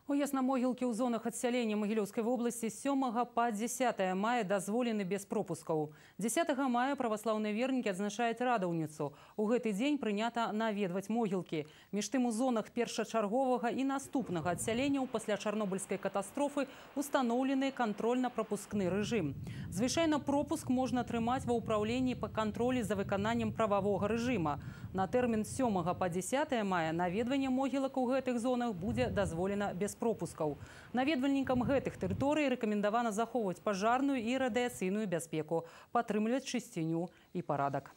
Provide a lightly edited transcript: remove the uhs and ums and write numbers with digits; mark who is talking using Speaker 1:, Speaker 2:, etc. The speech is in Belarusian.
Speaker 1: Уезд на могілкі ў зонах адсялення Магілёўскай вобласці з 7 па 10 мая дазволены без пропускаў. 10 мая праваслаўныя вернікі адзначаюць радаўніцу. У гэты дзень прынята наведваць могілкі. Між тым у зонах першачарговага і наступнага адсяленняў пасля чарнобыльскай катастрофы устаноўлены кантрольна-прапускны рэжым. Звычайна пропуск можна атрымаць ва ўпраўленні па кантролі за выкананнем прававога рэжыма. На тэрмін з 7 па 10 мая наведванне могілак у гэтых зонах будзе дазволена без пропускаў. Наведвальнікам гэтых тэрыторый рэкамендавана захоўваць пажарную і радыяцыйную бяспеку, падтрымліваць чысціню і парадак.